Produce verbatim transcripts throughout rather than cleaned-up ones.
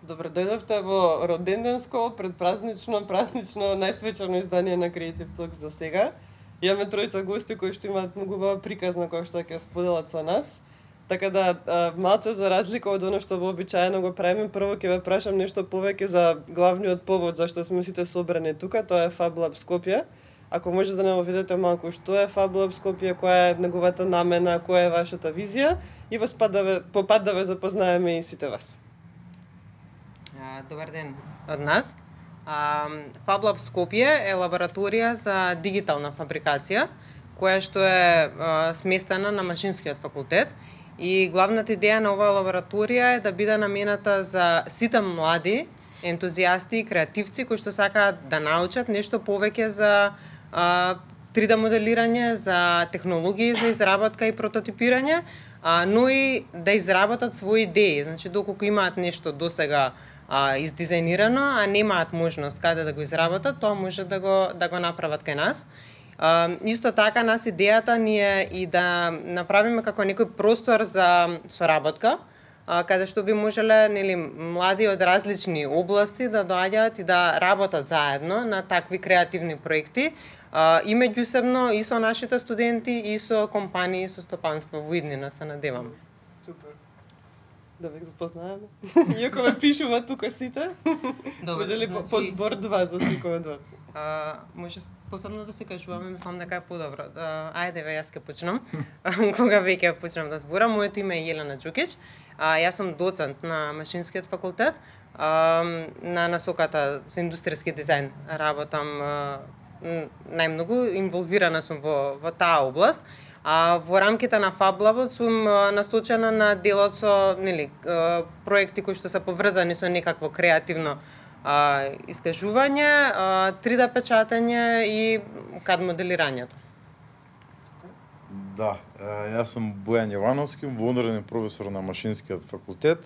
Добре дојдовте во роденденско, предпразнично, празнично, најсвечано издание на Creative Talks до сега. Имаме тројца гости кои што имаат многу убава приказна која што ќе споделат со нас. Така да, малце за разлика од оно што вообичаено го правиме, прво ќе ве прашам нешто повеќе за главниот повод зашто сме сите собрани тука, тоа е Fab Lab Скопје. Ако може да не видите малку што е Fab Lab Скопје, која е неговата намена, која е вашата визија и во спад да ве, по пат да ве запознаеме и сите вас. Добар ден од нас. Fab Lab Скопје е лабораторија за дигитална фабрикација, која што е сместена на Машинскиот факултет. И главната идеја на оваа лабораторија е да биде намената за сите млади ентузијасти и креативци кои што сакаат да научат нешто повеќе за три Д моделирање, за технологии за изработка и прототипирање, но и да изработат своји идеи. Значи, доколку имаат нешто досега а, издизајнирано, а немаат можност каде да го изработат, тоа може да го да го направат кај нас. А, исто така, нас идејата ни е и да направиме како некој простор за соработка, а, каде што би можеле, нели, млади од различни области да доаѓаат и да работат заедно на такви креативни проекти, а, и меѓусебно и со нашите студенти и со компании, со стопанство во иднина, се надевам. Супер. Да ве запознаеме. Иако ве пишува тука сите. Добре, може ли значи... по збор два за секој од вас? А, може посебно да се кажуваме, мислам дека е подобро. А, ајде ве, јас ќе почнам. Кога веќе почнам да зборам, моето име е Јелена Џукич. А, јас сум доцент на Машинскиот факултет, а, на насоката за индустријски дизајн. Работам а, најмногу, инволвирана сум во, во таа област. А во рамките на Fab Lab сум насочена на делот со, нели, проекти кои што се поврзани со некакво креативно а, искажување, а, три Д печатење и кад моделирањето. Да, јас сум Бојан Јовановски, вонреден професор на Машинскиот факултет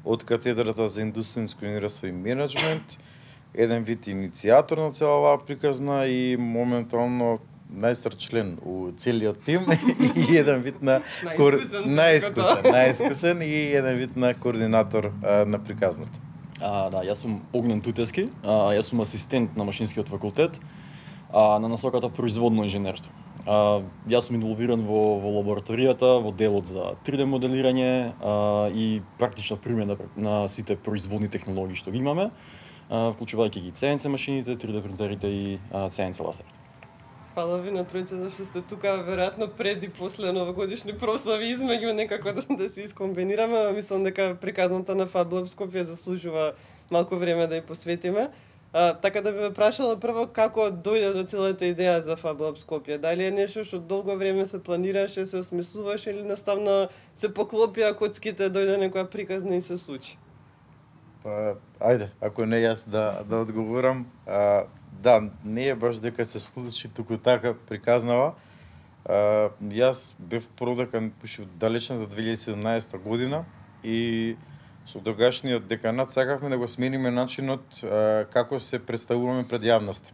од катедрата за индустријско инженерство и менеджмент, еден вид иницијатор на цела оваа приказна и моментално најстар член у целиот тим и еден вид на најискусен, најискусен и еден вид на координатор а, на приказната. А, да, јас сум Огнен Тутески, а, јас сум асистент на Машинскиот факултет а, на насоката производно инженерство. А, јас сум инволвиран во, во лабораторијата, во делот за три Д моделирање а, и практична примена на сите производни технологии што ги имаме, а, вклучувајќи ги Си Ен Си машините, три Д принтерите и а, Си Ен Си лазерите. Фала ви на тројца зашто сте тука, веројатно пред и после новогодишни прослави измеѓу некако да, да се искомбинираме, мислам дека приказната на Fab Lab Скопје заслужува малку време да ја посветиме. А, така да би ве прашала прво како дојде до целата идеја за Fab Lab Скопје. Дали е нешто што долго време се планираше, се осмислуваше или наставно се поклопија коцките, дојде некоја приказна и се случи? Па, ајде, ако не јас да да одговорам, а, да, не е баш дека се случи туку така приказнава. А, јас бев продекан пуше далечната две илјади и седумнаесета година и со тогашниот деканат сакавме да го смениме начинот а, како се представуваме пред јавноста.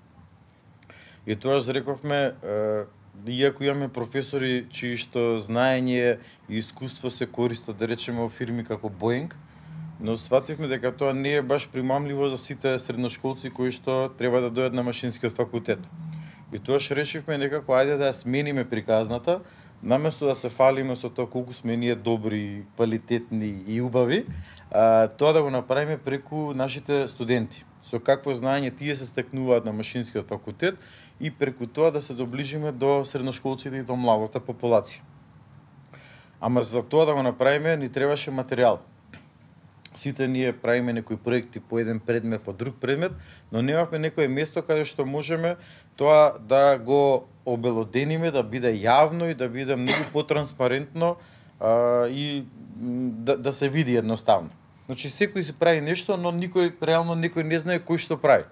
И тоа рековме, а, иако имаме професори чии што знаење и искуство се користат, да речеме, во фирми како Boeing, но свативме дека тоа не е баш примамливо за сите средношколци кои што треба да дојдат на Машинскиот факултет. И тоаш решивме некако ајде да ја смениме приказната, наместо да се фалиме со тоа колку сме ние добри, квалитетни и убави, а, тоа да го направиме преку нашите студенти. Со какво знаење тие се стекнуваат на Машинскиот факултет и преку тоа да се доближиме до средношколците и до младата популација. Ама за тоа да го направиме ни требаше материјал. Сите ние правиме некои проекти по еден предмет, по друг предмет, но немавме некое место каде што можеме тоа да го обелодениме, да биде јавно и да биде многу потранспарентно а, и да, да се види едноставно. Значи секој си прави нешто, но никој реално никој не знае кој што прави.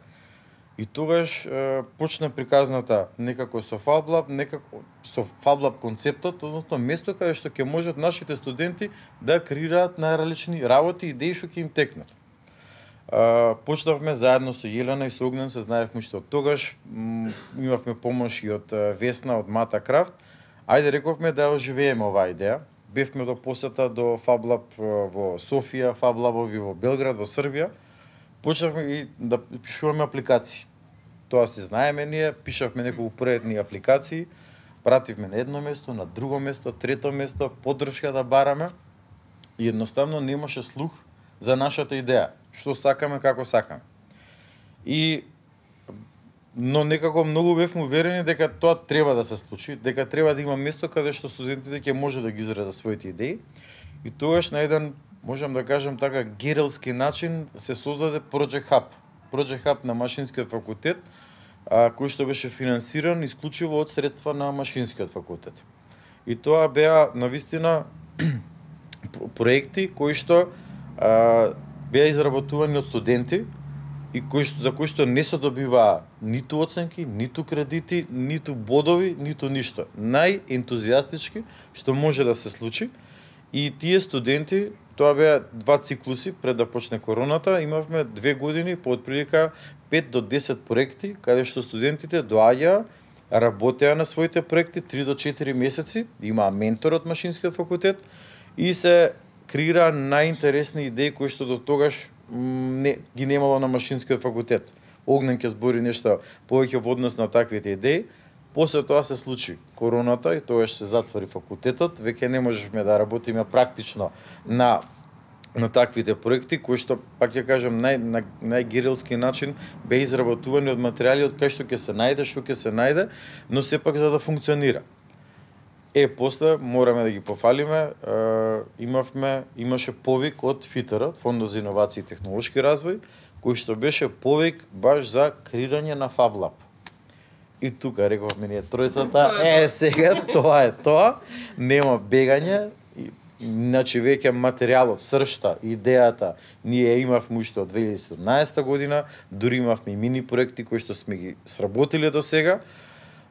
И тогаш е, почна приказната некако со Fab Lab, некако со Fab Lab концептот, односно место каде што ќе можат нашите студенти да креираат најразлични работи и идеи што ќе им текнат. Е, почнавме заедно со Јелена и со Огнен, се знаевме што тогаш имавме помош и од Весна, од Мата Крафт. Ајде рековме да оживееме оваа идеја, бевме до посета до FabLab во Софија, FabLaboви во Белград, во Србија. Почнавме и да пишуваме апликации. Тоа се знаеме ние, пишавме неколку проектни апликации, пративме на едно место, на друго место, трето место, поддршка да бараме и едноставно немаше слух за нашата идеја, што сакаме, како сакаме. И но некако многу бевме уверени дека тоа треба да се случи, дека треба да има место каде што студентите ќе може да ги изразат своите идеи. И тогаш на еден, можам да кажам така, герелски начин се создаде Project Hub. Project Hub на Машинскиот факултет, а, кој што беше финансиран исклучиво од средства на Машинскиот факултет. И тоа беа навистина проекти кои што а, беа изработувани од студенти и кои што, за кои што не се добиваа ниту оценки, ниту кредити, ниту бодови, ниту ништо. Најентузијастички што може да се случи. И тие студенти, тоа беа два циклуси пред да почне короната, имавме две години по отприлика пет до десет проекти, каде што студентите доаѓаа, работеа на своите проекти три до четири месеци, имаа ментор од Машинскиот факултет и се креира најинтересни идеи кои што до тогаш не, ги немало на Машинскиот факултет. Огнен ќе збори нешто повеќе во однос на таквите идеи. После тоа се случи короната и тогаш се затвори факултетот, веќе не можевме да работиме практично на на таквите проекти кои што, пак ќе кажам, нај на најгерилски начин беа изработувани од материјали од кај што ќе се најде, што ќе се најде, но сепак за да функционира. Е, после мораме да ги пофалиме, е, имавме, имаше повик од ФИТР, Фондот за иновации и технолошки развој, кој што беше повик баш за креирање на FabLab. И тука рековме ние тројцата, е, сега тоа е тоа, нема бегање, значи веќе материјалот, сршта, идејата, ние имавме уште од две илјади и седумнаесета година, дури имавме и мини проекти кои што сме ги сработиле до сега.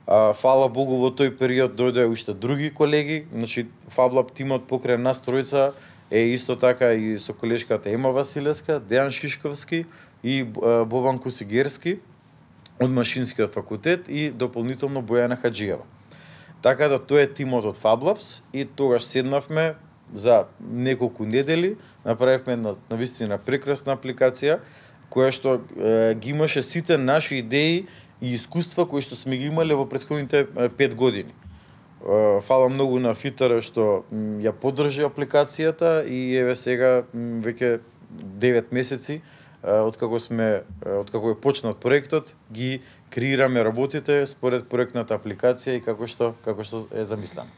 А, фала Богу, во тој период дојдоа уште други колеги, значи FabLab тимот покрај нас тројца е исто така и со колешката Ема Василевска, Дејан Шишковски и Бобан Кусигерски од Машинскиот факултет и дополнително Бојана Хаджиева. Така да тоа е тимот од FabLabs и тогаш седнавме за неколку недели, направивме една навистина прекрасна апликација која што е, ги имаше сите наши идеи и искуства кои што сме ги имале во претходните пет години. Фала многу на ФИТР што ја поддржи апликацијата и еве сега веќе девет месеци откако сме откако е почнат проектот, ги креираме работите според проектната апликација и како што како што е замислено.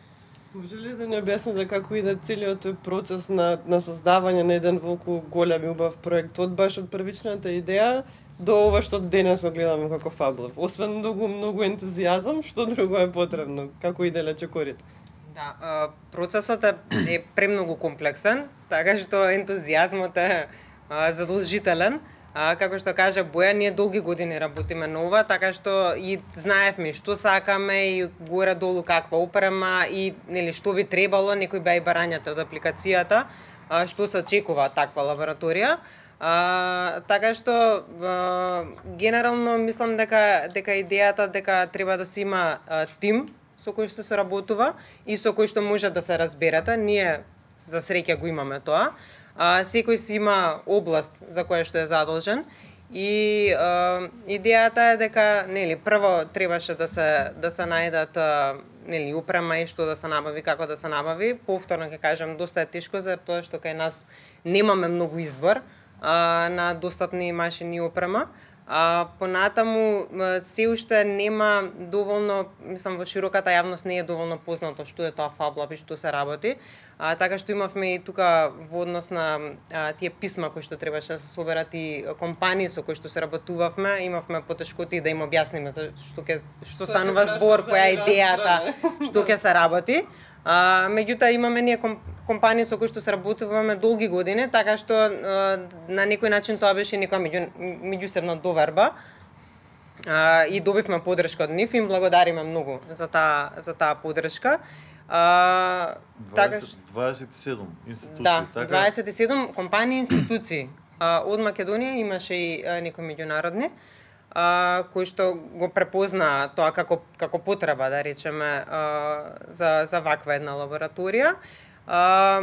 Може ли да ни објасните како иде целиот тој процес на на создавање на еден волку голем и убав проект, од баш од првичната идеја до ова што денес го гледаме како FabLab? Освен многу многу ентузијазам, што друго е потребно? Како иде лечекорите? Да, процесот е, е премногу комплексен, така што ентузијазмот е задолжителен. А, како што кажа Боја, ние долги години работиме на ова, така што и знаевме што сакаме и горе долу каква опрема и нели што би требало, некои беа и барањата од апликацијата, а, што се очекува таква лабораторија. А, така што а, генерално мислам дека дека идејата дека треба да се има а, тим со кој што се работува и со кој што може да се разберете. Ние за среќа го имаме тоа. А, секој си има област за која што е задолжен и а, идејата е дека нели прво требаше да се да се најдат а, нели опрема и што да се набави, како да се набави. Повторно ќе кажам, доста е тешко за тоа што кај нас немаме многу избор а, на достапни машини и опрема. А понатаму се уште нема доволно, мислам во широката јавност не е доволно познато што е тоа FabLab и што се работи. А, така што имавме и тука во однос на а, тие писма кои што требаше да се соберат и компании со кои што се работувавме, имавме потешкоти да им објасниме за што ќе што станува збор, која е идејата, што ќе се работи. А, меѓутоа имаме ние компании со кои што се работуваме долги години, така што а, на некој начин тоа беше нека меѓу меѓусебна доверба. А, и добивме поддршка од нив и им благодариме многу за таа за таа поддршка. А, дваесет, дваесет и седум институции, да, така? дваесет и седум компании и институции. А, од Македонија имаше и а, некои меѓународни, а, кои што го препознаа тоа како како потреба, да речеме, а, за за ваква една лабораторија. А,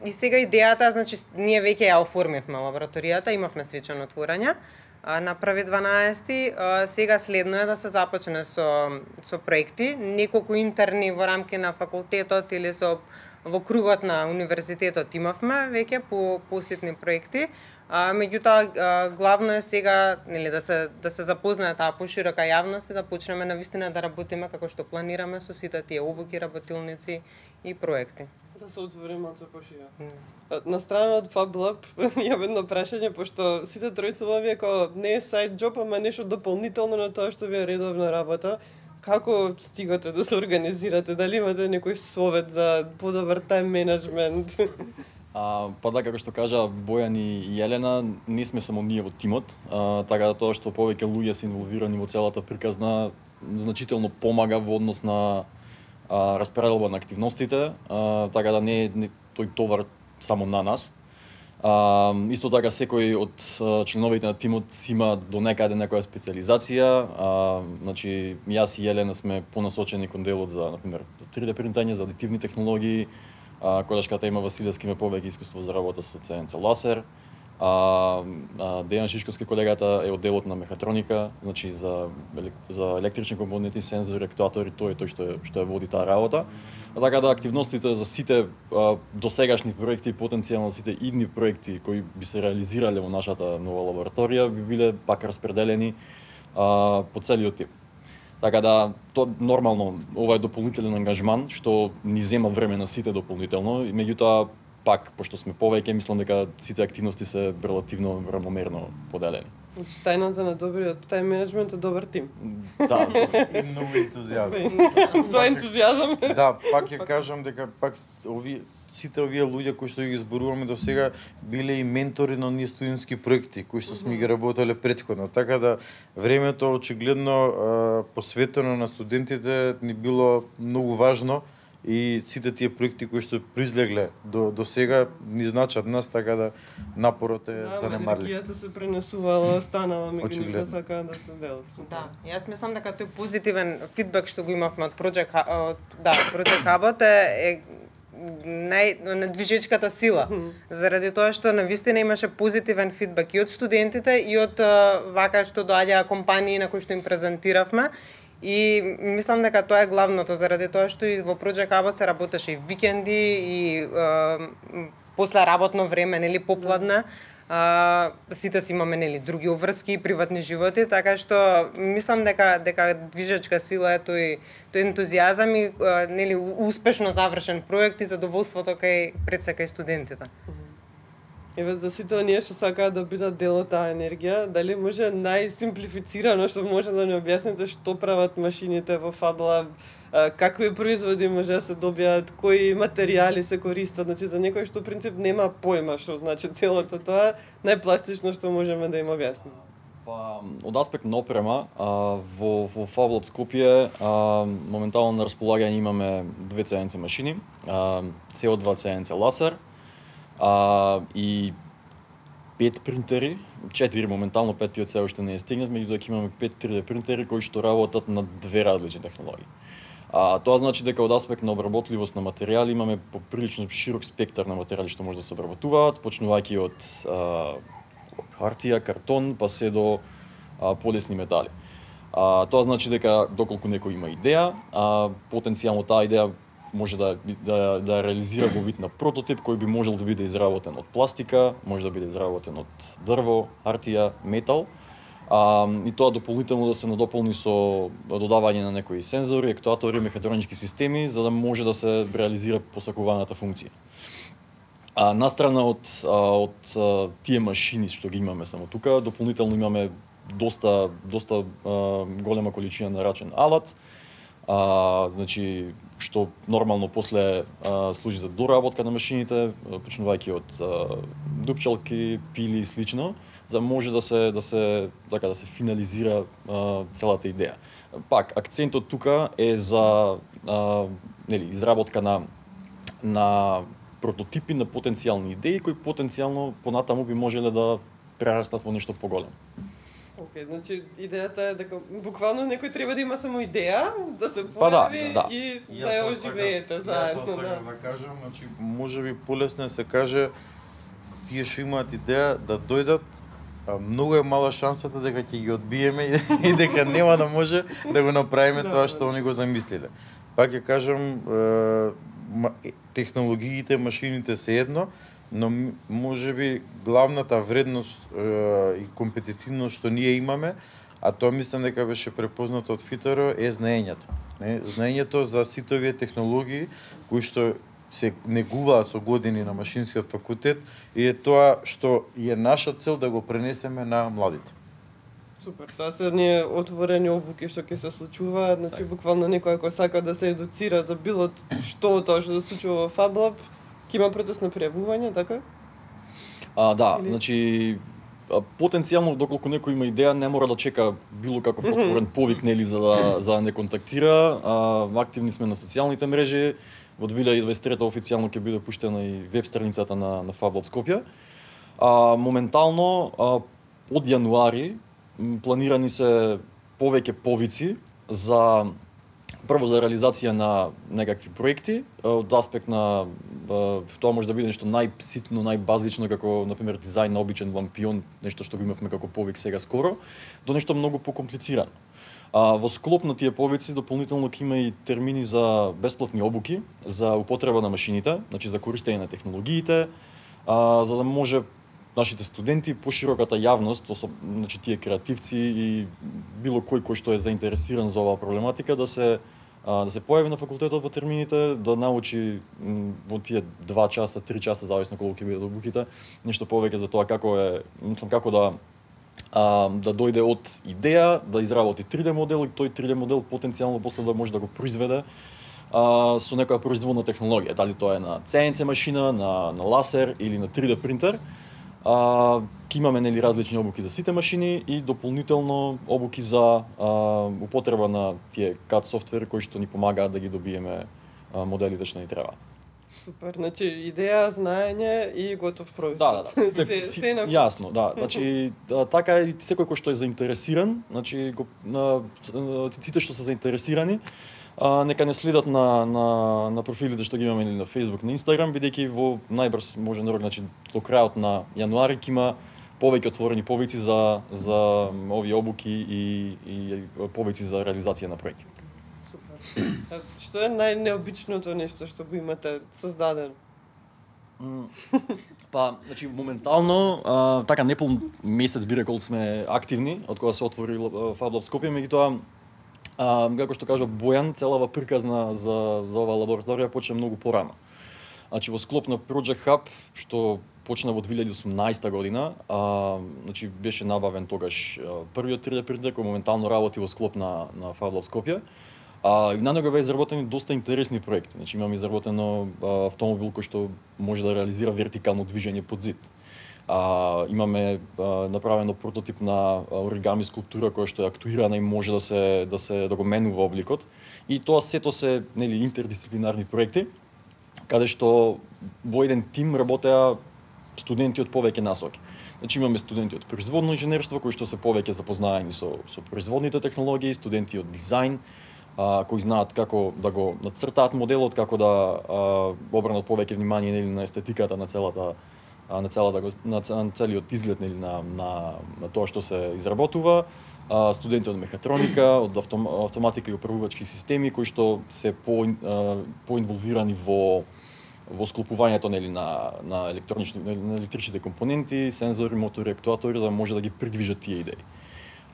и сега идејата, значи, ние веќе ја оформивме лабораторијата, имавме свечено отворање, а, на први дванаесети, а, сега следно е да се започне со, со проекти, неколку интерни во рамки на факултетот или со во кругот на универзитетот имавме веќе по посетни проекти. А, меѓутоа, главно е сега, нели, да се да се запознае таа поширока јавност и да почнеме навистина да работиме како што планираме со сите тие обуки, работилници и проекти. Да се отвори малку поширо. Mm. На страна од FabLab имам едно прашање, пошто сите тројца вие како не е сайд џоб, ама нешто дополнително на тоа што ви е редовна работа. Како стигате да се организирате? Дали имате некој совет за подобар тајм менеджмент? А, па да, како што кажа Бојан и Јелена, не сме само ние во тимот, а, така да тоа што повеќе луѓе се инволвирани во целата приказна значително помага во однос на а, распределба на активностите, а, така да не е не, тој товар само на нас. А, исто така секој од а, членовите на тимот си има до некаде некоја специализација, а, значи јас и Јелена сме понасочени кон делот за, например, три Д принтање, за адитивни технологии. А, колешката има Василевски има повеќе искуство за работа со Ц Н Ц ласер. А, а Дејан Шишковски колегата е од делот на мехатроника, значи за за електрични компоненти, сензори, актуатори, тој е тој што е што е води таа работа. А така да активностите за сите а, досегашни проекти и потенцијално сите идни проекти кои би се реализирале во нашата нова лабораторија би биле пак распределени а, по целиот тип. Така да, то нормално, ова е дополнителен ангажман, што ни зема време на сите дополнително, и меѓутоа, пак, пошто сме повеќе, мислам дека сите активности се релативно рамномерно поделени. Значи, тајната на добриот тајм менеджмент е добар тим. Да, и многу ентузијазам. Тоа е ентузијазам. Да, пак ќе кажам дека пак ови сите овие луѓе кои што ги зборуваме до сега биле и ментори на оние студентски проекти кои што сме ги работеле претходно. Така да времето очигледно посветено на студентите ни било многу важно и сите тие проекти кои што произлегле до до сега ни значат нас, така да напорот е да, занемарлив. Енергијата се пренесувала, останала меѓу нив, сака да се дела. Да, јас мислам дека тој позитивен фидбек што го имавме од Project од да, Project Hub е, е нај на движечката сила, заради тоа што навистина имаше позитивен фидбек и од студентите и од вака што доаѓаа компании на кои што им презентиравме. И мислам дека тоа е главното, заради тоа што и во Project Hub се работеше и викенди и е, после работно време, нели, попладне. А, сите си имаме, нели, други обврски и приватни животи, така што мислам дека дека движечка сила е тој тој ентузијазам и нели успешно завршен проект и задоволството кај пред се кај студентите. Еве за сите оние што сакаат да бидат дел од таа енергија, дали може најсимплифицирано што може да ни објасните што прават машините во FabLab, какви производи може да се добијат, кои материјали се користат, значи за некој што принцип нема појма што значи целото тоа, најпластично што можеме да им објасниме. Па, од аспект на опрема, а, во, во FabLab Скопје а, моментално на располагање имаме две Ц Н Ц машини, а, С О два Ц Н Ц ласер, а, и пет принтери, четири моментално, петиот се уште не е стигнат, меѓутоа имаме пет три Д принтери кои што работат на две различни технологии. А, тоа значи дека од аспект на обработливост на материјали имаме поприлично широк спектар на материјали што може да се обработуваат, почнувајќи од а, хартија, картон, па се до а, полесни метали. А, тоа значи дека доколку некој има идеја, а, потенцијално таа идеја може да, да, да реализира во вид на прототип кој би можел да биде изработен од пластика, може да биде изработен од дрво, хартија, метал, а, и тоа дополнително да се надополни со додавање на некои сензори, актуатори, мехатронички системи, за да може да се реализира посакуваната функција. А настрана од, од тие машини што ги имаме само тука, дополнително имаме доста доста а, голема количина нарачен алат, а, значи што нормално после а, служи за доработка на машините, почнувајќи од а, дупчалки, пили и слично, за да може да се да се така да се финализира а, целата идеја. Пак акцентот тука е за а, нели изработка на на прототипи на потенцијални идеи кои потенцијално понатаму би можеле да прерастат во нешто поголемо. Океј, значи идејата е дека буквално некој треба да има само идеја, да се Па да, појави да. и Ја да ја тоа оживеете сакам- заедно. Ја тоа да. сакам да кажам, значи можеби полесно се каже тие што имаат идеја да дојдат, а, многу е мала шансата дека ќе ги одбиеме и дека нема да може да го направиме тоа што они го замислиле. Пак ќе кажам, е, ма- е, технологиите, машините се едно, но м- можеби главната вредност е, и компетитивност што ние имаме, а тоа мислам дека беше препознато од Фитеро, е знаењето. Не, знаењето за сите овие технологии кои што се негуваат со години на машинскиот факултет и е тоа што е наша цел да го пренесеме на младите. Супер, тоа се ние отворени обуки што ќе се случуваат, значи буквално некој ако сака да се едуцира за било што од тоа што се случува во FabLab, ќе има процес на пријавување, така? А, да, Или- значи а, потенцијално доколку некој има идеја не мора да чека било каков отворен повик нели за да за да не контактира. А, активни сме на социјалните мрежи. Во две илјади и дваесет и трета официјално ќе биде пуштена и веб страницата на на FabLab Скопје. А, моментално а, од јануари м, планирани се повеќе повици за прво за реализација на некакви проекти од аспект на а, тоа може да биде нешто најситно, најбазично како на пример дизајн на обичен лампион, нешто што го имавме како повик сега скоро, до нешто многу покомплицирано. А, во склоп на тие повици дополнително ќе има и термини за бесплатни обуки за употреба на машините, значи за користење на технологиите, а, за да може нашите студенти, пошироката јавност, особ, значи тие креативци и било кој кој што е заинтересиран за оваа проблематика да се а, да се појави на факултетот во термините, да научи м, во тие два часа, три часа зависно колку ќе бидат обуките, нешто повеќе за тоа како е, мислам како да а, да дојде од идеја, да изработи три Д модел и тој три Д модел потенцијално после да може да го произведе а, со некоја производна технологија, дали тоа е на Це Ен Це машина, на на ласер или на три Д принтер. А, ќе имаме нели различни обуки за сите машини и дополнително обуки за а, употреба на тие кад софтвери кои што ни помагаат да ги добиеме а, моделите што ни требаат. Супер, значи идеја, знаење и готов производ. Да, да, да. се, Си- се на Јасно, да. Значи да, така е и секој кој што е заинтересиран, значи го, на, на сите што се заинтересирани, а, нека не следат на, на, на профилите што ги имаме или на Facebook, на Instagram, бидејќи во најбрз можен рок, значи до крајот на јануари ќе има повеќе отворени повици за за овие обуки и и повици за реализација на проекти. Супер. А што е најнеобичното нешто што го имате создадено? Па, значи моментално а, така непол месец би рекол сме активни од кога се отвори а, FabLab Скопје, меѓутоа а, како што кажа Бојан, целава приказна за за оваа лабораторија почна многу порано. Значи во склоп на Project Hub што почна во две илјади и осумнаесета година, а, значи беше набавен тогаш а, првиот три Д принтер кој моментално работи во склоп на на FabLab Скопје. А, и на него беа изработени доста интересни проекти. Значи имаме изработено а, автомобил кој што може да реализира вертикално движење под зид. А, имаме а, направено прототип на оригами скулптура која што е актуирана и може да се да се да го менува обликот. И тоа сето се нели интердисциплинарни проекти каде што во еден тим работеа студенти од повеќе насоки. Значи имаме студенти од производно инженерство кои што се повеќе запознаени со со производните технологии, студенти од дизајн, а, кои знаат како да го нацртаат моделот, како да а, обранат повеќе внимание нели на естетиката на целата а, на целата го- на, ц- на целиот изглед нели на на на тоа што се изработува. А, студенти од мехатроника, од автом, автоматика и управувачки системи кои што се по а, поинволвирани во во склопувањето нели на на електронични нели, на електричните компоненти, сензори, мотори, актуатори за да може да ги придвижат тие идеи.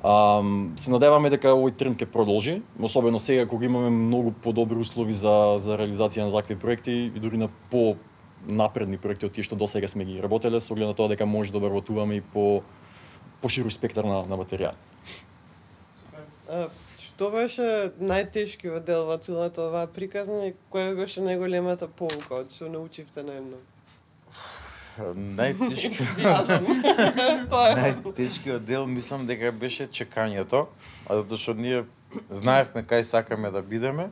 А, се надеваме дека овој тренд ќе продолжи, особено сега кога имаме многу подобри услови за за реализација на такви проекти и дури на по напредни проекти од тие што досега сме ги работеле, со оглед на тоа дека може да обработуваме и по поширок спектар на на материјали. А, што беше најтешкиот дел во целата оваа приказна и која беше најголемата поука од што научивте најмногу? Најтешки Ентузијазам. Тоа е. Најтешкиот дел мислам дека беше чекањето, а затоа што ние знаевме кај сакаме да бидеме.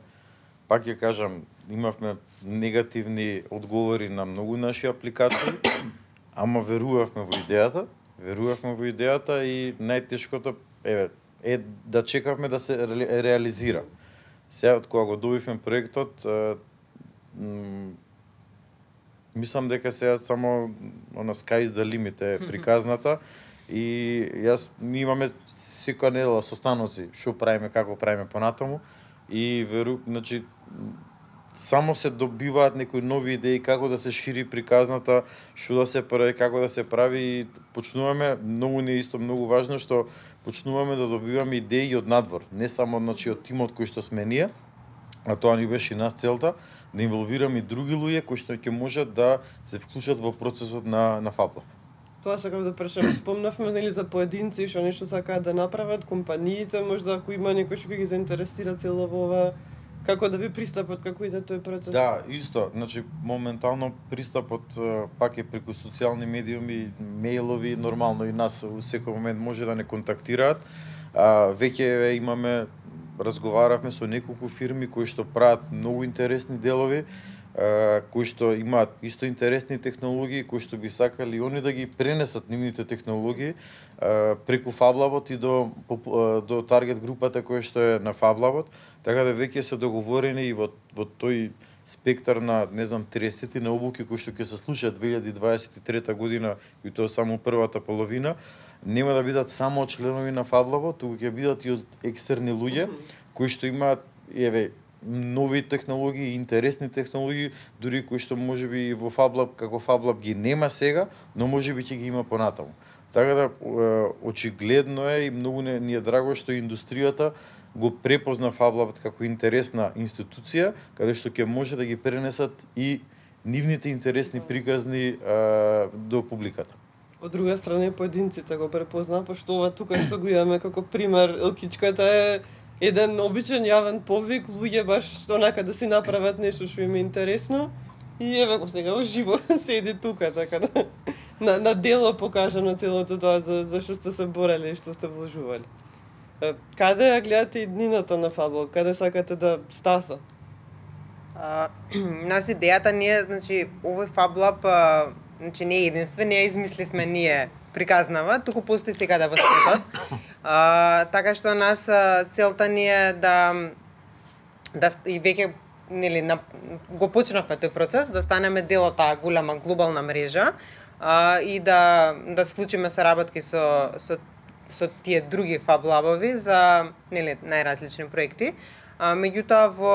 Пак ќе кажам, имавме негативни одговори на многу наши апликации, ама верувавме во идејата, верувавме во идејата и најтешкото еве е да чекавме да се ре, реализира. Сега од кога го добивме проектот, мислам дека сега само она sky is the limit е приказната и јас ми имаме секоја недела состаноци што правиме, како правиме понатаму и веру, значи само се добиваат некои нови идеи како да се шири приказната, што да се прави, како да се прави и почнуваме, многу не исто многу важно што почнуваме да добиваме идеи од надвор, не само значи од тимот кој што сме ние, а тоа ни беше и нас целта, да инволвираме и други луѓе кои што ќе можат да се вклучат во процесот на на FabLab. Тоа сакам да прашам, спомнавме нели за поединци што нешто сакаат да направат, компаниите, можда ако има некој што ги заинтересира цело во ова, како да би пристапот, како иде тој процес? Да, исто, значи моментално пристапот пак е преку социјални медиуми, мејлови, нормално и нас во секој момент може да не контактираат. А, веќе имаме разговаравме со неколку фирми кои што прават многу интересни делови, кои што имаат исто интересни технологии, кои што би сакали они да ги пренесат нивните технологии преку FabLab и до до таргет групата која што е на FabLab, така да веќе се договорени и во во тој спектар на не знам триесет на обуки кои што ќе се случат две илјади дваесет и трета година и тоа само првата половина, нема да бидат само членови на FabLab, туку ќе бидат и од екстерни луѓе кои што имаат еве нови технологии, интересни технологии, дури кои што можеби во FabLab како FabLab ги нема сега, но можеби ќе ги има понатаму. Така да очигледно е и многу не, ни е драго што индустријата го препозна FabLab како интересна институција, каде што ќе може да ги пренесат и нивните интересни приказни а, до публиката. Од друга страна поединците го препозна, пошто ова тука што го имаме како пример, Елкичката е еден обичен јавен повик, луѓе баш онака да си направат нешто што им е интересно и еве го сега уживо седи тука, така да на, на дело покажано целото тоа за, за што сте се борели и што сте вложували. Каде ја гледате иднината на FabLab? Каде сакате да стаса? А, нас идејата ние, значи, овој FabLab, а, значи не е единствен, не ја измисливме ние приказнава, туку постои сега да во светот. А, така што нас целта ни е да да и веќе нели на, го почнавме тој процес да станеме дел од таа голема глобална мрежа а, и да да склучиме соработки со со со тие други FabLab-ови за нели најразлични проекти. А, меѓутоа во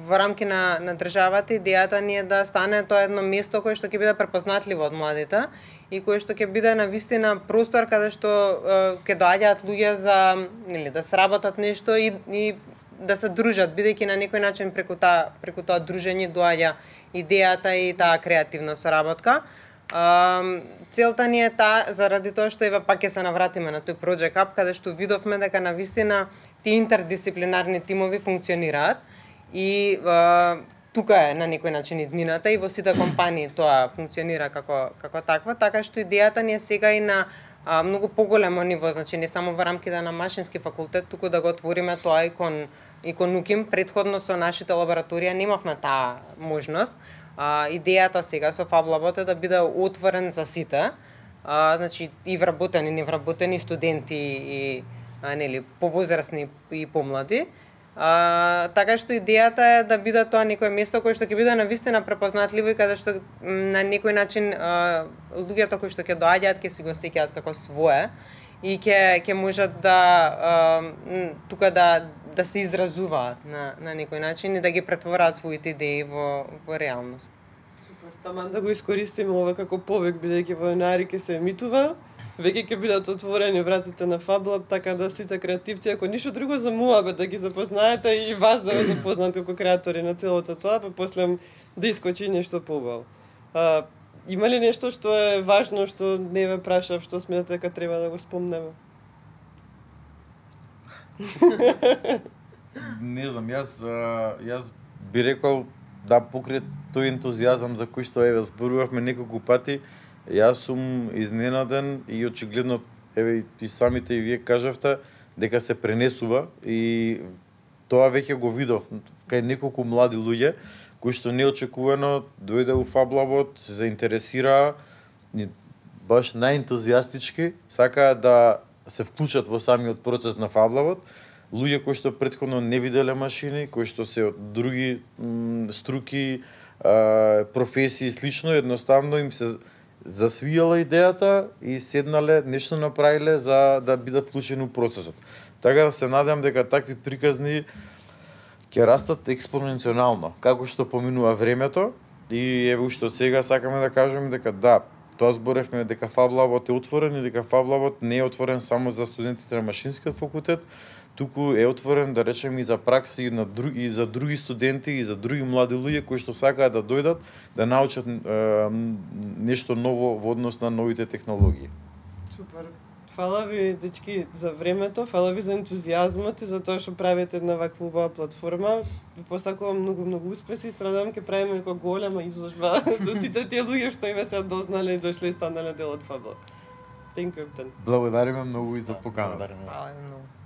во рамки на на државата идејата ни е да стане тоа едно место кое што ќе биде препознатливо од младите и кое што ќе биде навистина простор каде што ќе доаѓаат луѓе за нели да сработат нешто и, и да се дружат, бидејќи на некој начин преку таа преку тоа дружење доаѓа идејата и таа креативна соработка. Uh, целта ни е таа, заради тоа што еве пак ќе се навратиме на тој Project Hub, каде што видовме дека навистина тие интердисциплинарни тимови функционираат и uh, тука е на некој начин иднината и во сите компании тоа функционира како како таква, така што идејата ни е сега и на uh, многу поголемо ниво, значи не само во рамките на Машински факултет, туку да го отвориме тоа и кон и кон УКИМ. Претходно со нашите лабораторија немавме таа можност. А, идејата сега со FabLab е да биде отворен за сите, а, значи и вработени, невработени студенти и а, нели повозрасни и помлади. А, така што идејата е да биде тоа некое место кое што ќе биде навистина препознатливо и каде што на некој начин а, луѓето кои што ќе доаѓаат ќе си го сеќаат како свое и ќе ќе можат да а, тука да да се изразуваат на на некој начин и да ги претвораат своите идеи во во реалност. Супер, таман да го искористиме ова како повик, бидејќи во јануари ќе се емитува, веќе ќе бидат отворени вратите на FabLab, така да сите креативци, ако ништо друго за муабет да ги запознаете и вас да ве запознаат како креатори на целото тоа, па после да искочи нешто побаво. А, има ли нешто што е важно што не ве прашав, што сметате дека треба да го спомнеме? Не знам, јас јас би рекол да покрај тој ентузијазам за кој што еве зборувавме неколку пати, јас сум изненаден и очигледно еве и самите и вие кажавте дека се пренесува и тоа веќе го видов кај неколку млади луѓе кои што неочекувано дојде у FabLab, се заинтересираа баш најентузијастички, сакаа да се вклучат во самиот процес на Фаблавот, луѓе кои што претходно не виделе машини, кои што се од други м, струки, а, професии и слично, едноставно им се засвијала идејата и седнале, нешто направиле за да бидат вклучени во процесот. Така да се надевам дека такви приказни ќе растат експоненционално, како што поминува времето и еве уште од сега сакаме да кажеме дека да, тоа зборевме дека Фаблавот е отворен и дека Фаблавот не е отворен само за студентите на машинскиот факултет, туку е отворен, да речеме, и за пракси и на други и за други студенти и за други млади луѓе кои што сакаат да дојдат да научат е, нешто ново во однос на новите технологии. Супер. Фала ви, дечки, за времето, фала ви за ентузијазмот и за тоа што правите една ваква убава платформа. Ви посакувам многу многу успеси, се надевам ќе правиме некоја голема изложба со сите тие луѓе што еве се дознале и дошле и станале дел од Фаблав. Thank you, Ептен. Благодариме многу и за поканата. Фала многу.